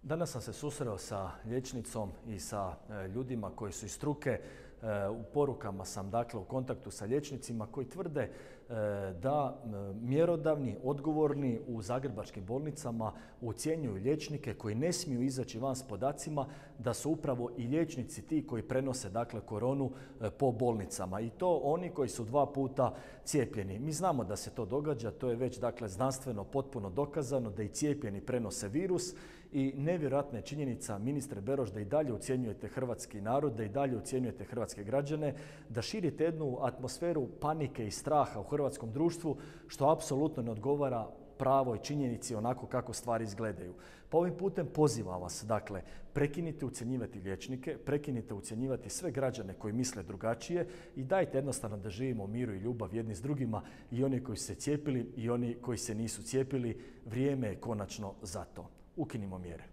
Danas sam se susreo sa liječnicom i sa ljudima koji su iz struke. U porukama sam u kontaktu sa liječnicima koji tvrde da mjerodavni, odgovorni u zagrebačkim bolnicama ucjenjuju liječnike koji ne smiju izaći van s podacima da su upravo i liječnici ti koji prenose koronu po bolnicama i to oni koji su 2 puta cijepljeni. Mi znamo da se to događa, to je već znanstveno potpuno dokazano da i cijepljeni prenose virus i nevjerojatna je činjenica, ministre Beroš, da i dalje ucjenjujete hrvatski narod, da i dalje ucjenjujete hrvatske građane, da širite jednu atmosferu panike i straha u hrvatskom društvu, što apsolutno ne odgovara pravoj činjenici onako kako stvari izgledaju. Pa ovim putem pozivam vas, prekinite ucjenjivati liječnike, prekinite ucjenjivati sve građane koji misle drugačije i dajte jednostavno da živimo u miru i ljubav jedni s drugima, i oni koji su se cijepili i oni koji se nisu cijepili. Vrijeme je konačno za to. Ukinimo mjere.